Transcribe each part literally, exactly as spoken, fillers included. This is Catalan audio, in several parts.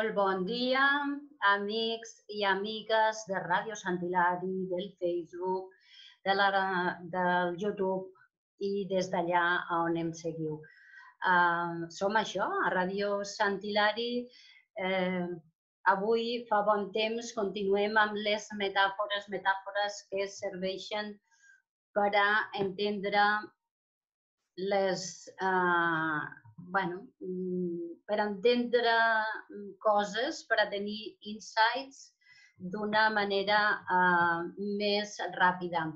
Molt bon dia, amics i amigues de Ràdio Sant Hilari, del Facebook, de la, del YouTube i des d'allà on em seguiu. Uh, som això, a Ràdio Sant Hilari. Uh, avui fa bon temps, continuem amb les metàfores, metàfores que serveixen per a entendre les... Uh, bueno, per entendre coses, per a tenir insights d'una manera uh, més ràpida.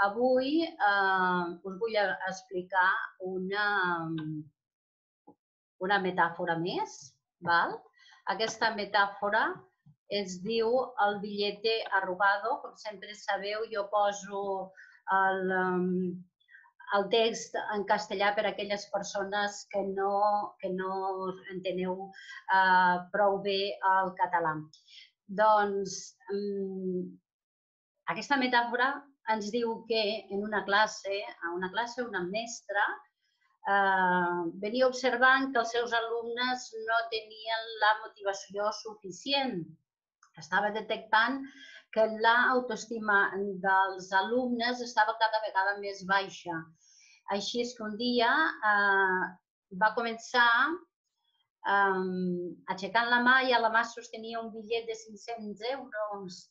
Avui uh, us vull explicar una, una metàfora més. Val? Aquesta metàfora es diu el billete arrugado. Com sempre sabeu, jo poso el... Um, el text en castellà per a aquelles persones que no, que no enteneu uh, prou bé el català. Doncs um, aquesta metàfora ens diu que en una classe, a una classe, una mestra uh, venia observant que els seus alumnes no tenien la motivació suficient. Estava detectant que l'autoestima dels alumnes estava cada vegada més baixa. Així és que un dia eh, va començar eh, aixecant la mà i a la mà sostenia un bitllet de cinc-cents euros.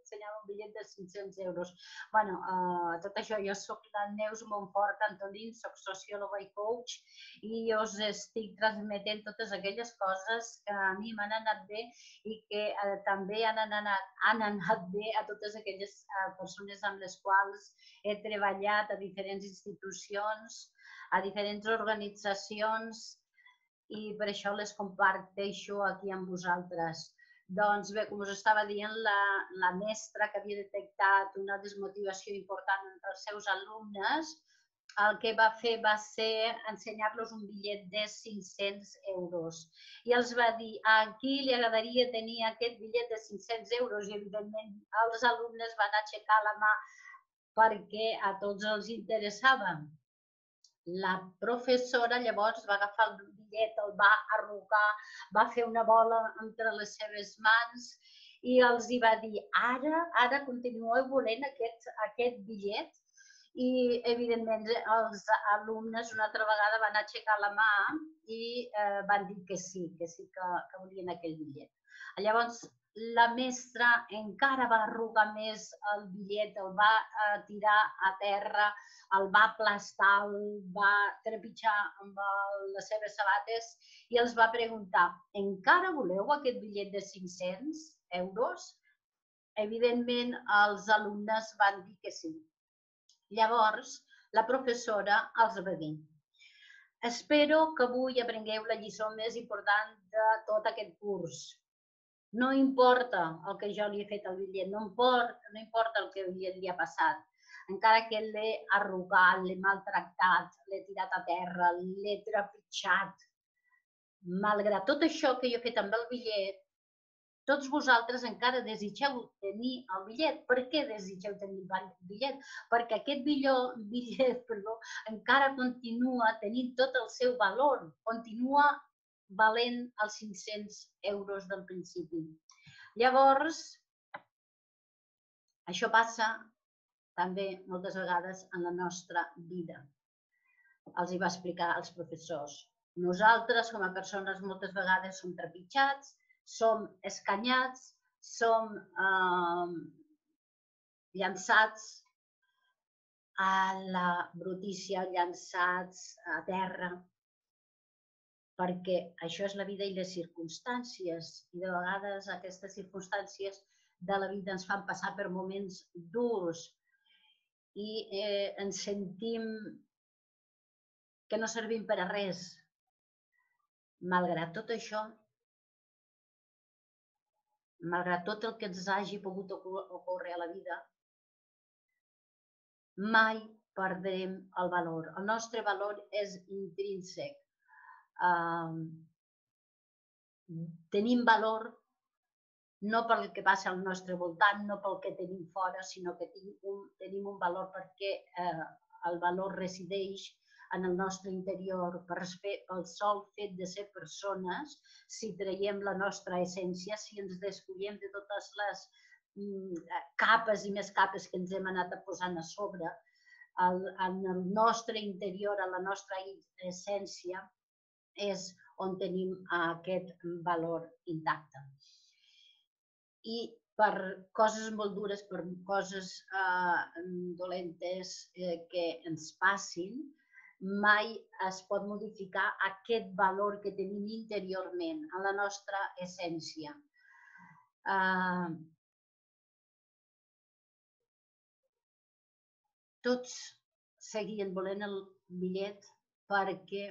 Ensenyava un bitllet de cinc-cents euros. Bueno, eh, tot això, jo soc la Neus Montfort Antolín, soc sociòloga i coach i us estic transmetent totes aquelles coses que a mi m'han anat bé i que eh, també han anat, han anat bé a totes aquelles eh, persones amb les quals he treballat a diferents institucions, a diferents organitzacions i per això les comparteixo aquí amb vosaltres. Doncs bé, com us estava dient, la, la mestra que havia detectat una desmotivació important entre els seus alumnes, el que va fer va ser ensenyar-los un bitllet de cinc-cents euros. I els va dir, a qui li agradaria tenir aquest bitllet de cinc-cents euros? I evidentment els alumnes van aixecar la mà perquè a tots els interessava. La professora llavors va agafar el bitllet, el va arrugar, va fer una bola entre les seves mans i els hi va dir, ara, ara continueu volent aquest, aquest bitllet? I, evidentment, els alumnes una altra vegada van aixecar la mà i eh, van dir que sí, que sí que, que volien aquell bitllet. Llavors, la mestra encara va arrugar més el bitllet, el va eh, tirar a terra, el va aplastar, el va trepitjar amb el, les seves sabates i els va preguntar, encara voleu aquest bitllet de cinc-cents euros? Evidentment, els alumnes van dir que sí. Llavors, la professora els va dir, espero que avui aprengueu la lliçó més important de tot aquest curs. No importa el que jo li he fet al bitllet, no importa, no importa el que li ha passat. Encara que l'he arrugat, l'he maltractat, l'he tirat a terra, l'he trepitjat. Malgrat tot això que jo he fet amb el bitllet, tots vosaltres encara desitgeu tenir el bitllet. Per què desitgeu tenir el bitllet? Perquè aquest bitllet perdó, encara continua tenint tot el seu valor, continua valent els cinc-cents euros del principi. Llavors, això passa també moltes vegades en la nostra vida. Els hi va explicar als professors. Nosaltres, com a persones, moltes vegades som trepitjats, som escanyats, som eh, llançats a la brutícia, llançats a terra, perquè això és la vida i les circumstàncies. I de vegades aquestes circumstàncies de la vida ens fan passar per moments durs i eh, ens sentim que no servim per a res. Malgrat tot això, malgrat tot el que ens hagi pogut ocórrer a la vida, mai perdrem el valor. El nostre valor és intrínsec. Uh, tenim valor no pel que passa al nostre voltant, no pel que tenim fora, sinó que tenim un, tenim un valor perquè eh, el valor resideix en el nostre interior pel sol fet de ser persones, si traiem la nostra essència, si ens despullem de totes les capes i més capes que ens hem anat posant a sobre, en el nostre interior, en la nostra essència, és on tenim aquest valor intacte. I per coses molt dures, per coses dolentes que ens passin, mai es pot modificar aquest valor que tenim interiorment, en la nostra essència. Tots seguien volent el bitllet perquè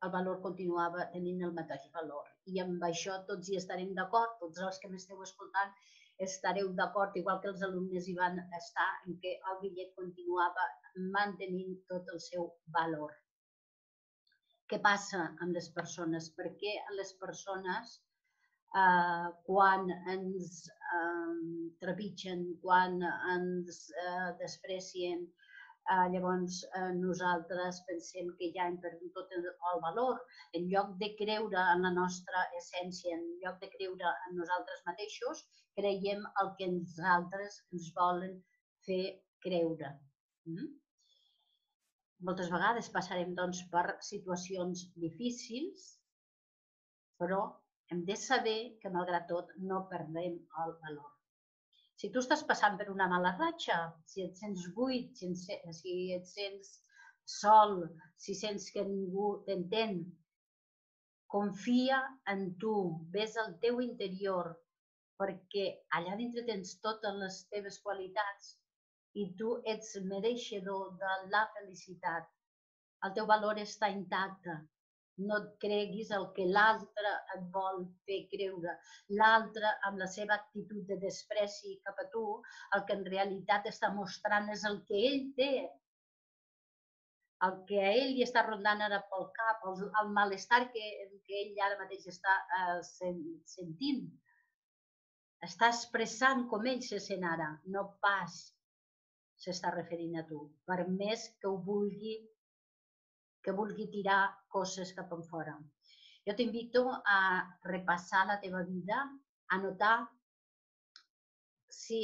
el valor continuava tenint el mateix valor. I amb això tots hi estarem d'acord, tots els que m'esteu escoltant estareu d'acord, igual que els alumnes hi van estar, en què el bitllet continuava mantenint tot el seu valor. Què passa amb les persones? Per què les persones, quan ens trepitgen, quan ens desprecien, llavors nosaltres pensem que ja hem perdut tot el valor? En lloc de creure en la nostra essència, en lloc de creure en nosaltres mateixos, creiem el que els altres ens volen fer creure. Moltes vegades passarem per situacions difícils, però hem de saber que, malgrat tot, no perdem el valor. Si tu estàs passant per una mala ratxa, si et sents buit, si et sents sol, si sents que ningú t'entén, confia en tu, ves al teu interior, perquè allà dintre tens totes les teves qualitats i tu ets mereixedor de la felicitat. El teu valor està intacte. No et creguis el que l'altre et vol fer creure. L'altre, amb la seva actitud de despreci cap a tu, el que en realitat està mostrant és el que ell té. El que a ell li està rondant ara pel cap, el malestar que ell ara mateix està sentint. Està expressant com ell se sent ara, no pas s'està referint a tu, per més que ho vulgui que vulgui tirar coses cap enfora. Jo t'invito a repassar la teva vida, a notar si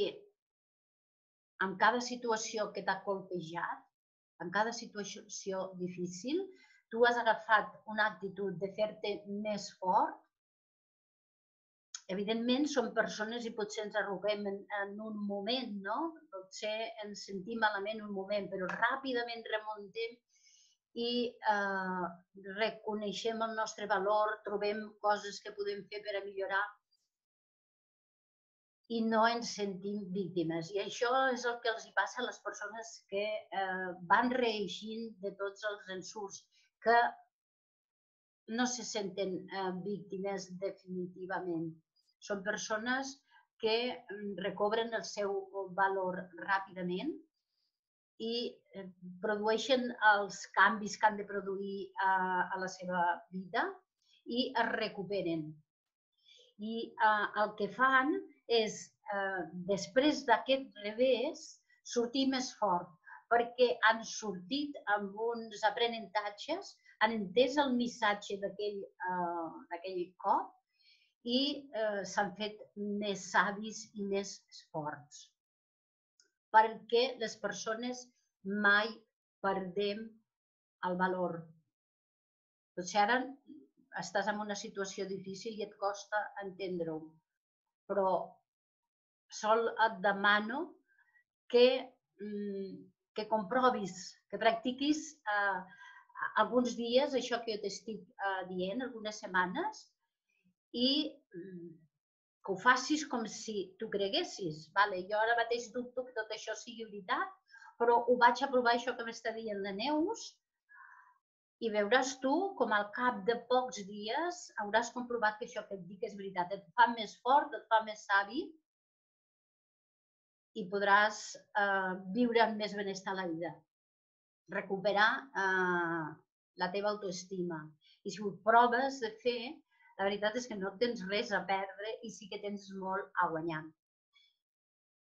en cada situació que t'ha colpejat, en cada situació difícil, tu has agafat una actitud de fer-te més fort. Evidentment, som persones i potser ens arruguem en un moment, no? Potser ens sentim malament un moment, però ràpidament remuntem i reconeixem el nostre valor, trobem coses que podem fer per a millorar i no ens sentim víctimes. I això és el que els passa a les persones que van reeixint de tots els ensurts, que no se senten víctimes definitivament. Són persones que recobren el seu valor ràpidament i produeixen els canvis que han de produir a la seva vida i es recuperen. I el que fan és, després d'aquest revés, sortir més fort, perquè han sortit amb uns aprenentatges, han entès el missatge d'aquell cop i s'han fet més savis i més forts. Perquè les persones mai perdem el valor. Potser ara estàs en una situació difícil i et costa entendre-ho, però sol et demano que comprovis, que practiquis alguns dies això que jo t'estic dient, algunes setmanes, i que ho facis com si tu creguessis. Jo ara mateix dubto que tot això sigui veritat, però ho vaig a provar, això que m'està dient la Neus, i veuràs tu com al cap de pocs dies hauràs comprovat que això que et dic és veritat. Et fa més fort, et fa més savi i podràs viure amb més benestar a la vida. Recuperar la teva autoestima. I si ho proves de fer, la veritat és que no tens res a perdre i sí que tens molt a guanyar.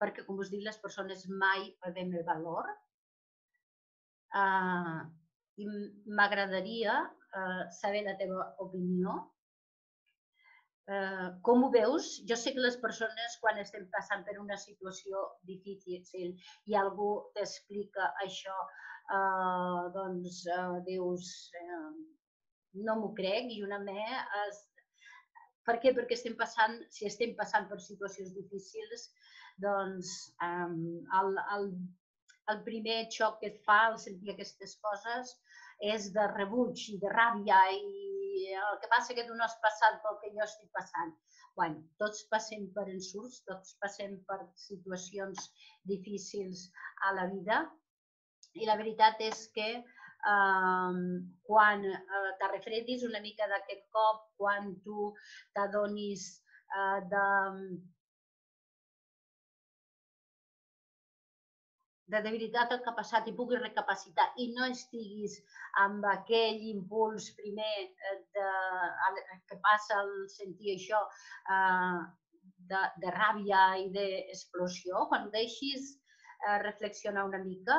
Perquè, com us dic, les persones mai perdem el valor. i m'agradaria saber la teva opinió. Com ho veus? Jo sé que les persones, quan estem passant per una situació difícil i algú t'explica això, doncs dius, no m'ho crec, i una me... Per què? Perquè estem passant, si estem passant per situacions difícils, doncs el primer xoc que et fa al sentir aquestes coses és de rebuig i de ràbia, i el que passa que tu no has passat pel que jo estic passant. Bé, tots passem per ensurts, tots passem per situacions difícils a la vida, i la veritat és que quan te refredis una mica d'aquest cop, quan tu t'adonis de de veritat el que ha passat i puguis recapacitar i no estiguis amb aquell impuls primer que passa al sentir això de ràbia i d'explosió, quan ho deixis reflexionar una mica,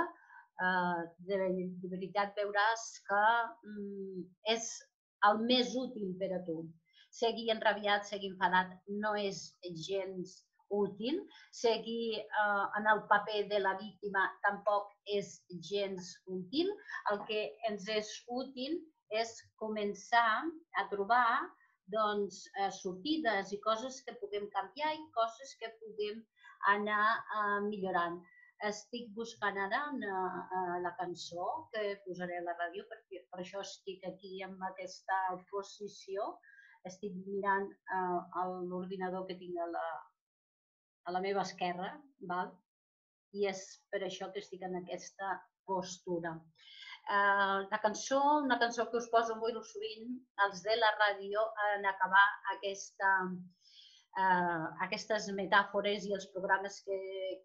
de veritat veuràs que és el més útil per a tu. Seguir enrabiat, seguir enfadat no és gens útil. Seguir en el paper de la víctima tampoc és gens útil. El que ens és útil és començar a trobar sortides i coses que puguem canviar i coses que puguem anar millorant. Estic buscant ara la cançó que posaré a la ràdio, perquè per això estic aquí en aquesta posició. Estic mirant l'ordinador que tinc a la meva esquerra, i és per això que estic en aquesta postura. La cançó, una cançó que us poso molt sovint, els de la ràdio, en acabar aquestes metàfores i els programes que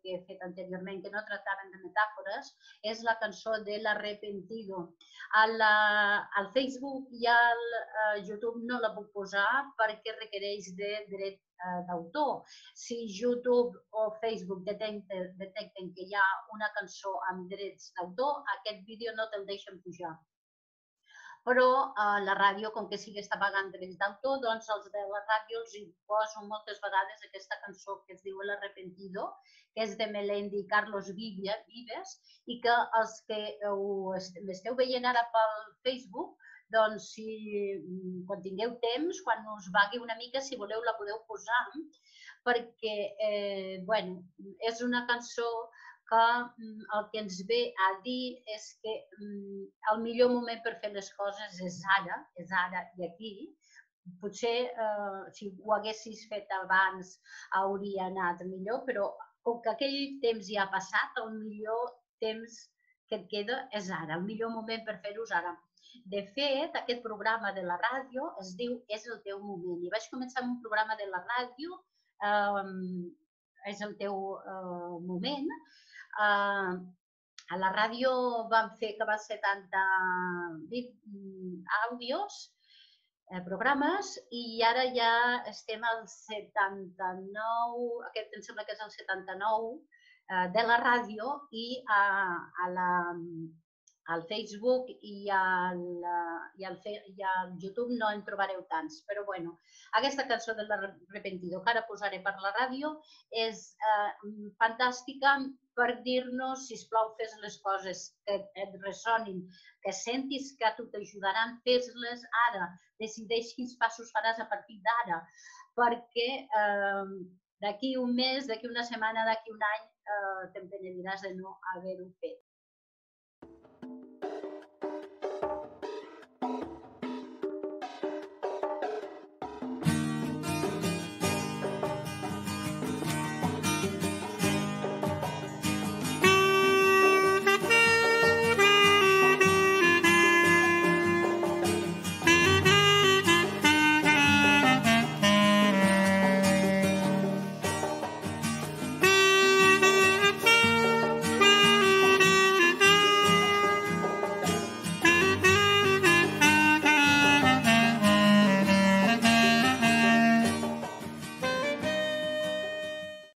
he fet anteriorment que no tractaven de metàfores, és la cançó de l'Arrepentido. Al Facebook i al YouTube no la puc posar perquè requereix de dret d'autor. Si YouTube o Facebook detecten que hi ha una cançó amb drets d'autor, aquest vídeo no te'l deixen pujar. Però la ràdio, com que sí que està pagant drets d'autor, doncs els de la ràdio els poso moltes vegades aquesta cançó que es diu L'Arrepentido, que és de Melendi i Carlos Vives, i que els que m'esteu veient ara pel Facebook, doncs quan tingueu temps, quan us vagui una mica, si voleu la podeu posar, perquè és una cançó que el que ens ve a dir és que el millor moment per fer les coses és ara, és ara i aquí. Potser si ho haguessis fet abans hauria anat millor, però com que aquell temps ja ha passat, el millor temps que et queda és ara, el millor moment per fer-ho és ara. De fet, aquest programa de la ràdio es diu És el teu moment. I vaig començar amb un programa de la ràdio, És el teu moment. A la ràdio vam fer que va ser setanta àudios, programes, i ara ja estem al setanta-nou, aquest em sembla que és el setanta-nou, de la ràdio, i al Facebook i al YouTube no en trobareu tants. Però bé, aquesta cançó de l'Arrepentido que ara posaré per la ràdio és fantàstica per dir-nos, sisplau, fes les coses que et ressonin, que sentis que a tu t'ajudaran, fes-les ara. Decideix quins passos faràs a partir d'ara, perquè d'aquí un mes, d'aquí una setmana, d'aquí un any, te'n penediràs de no haver-ho fet.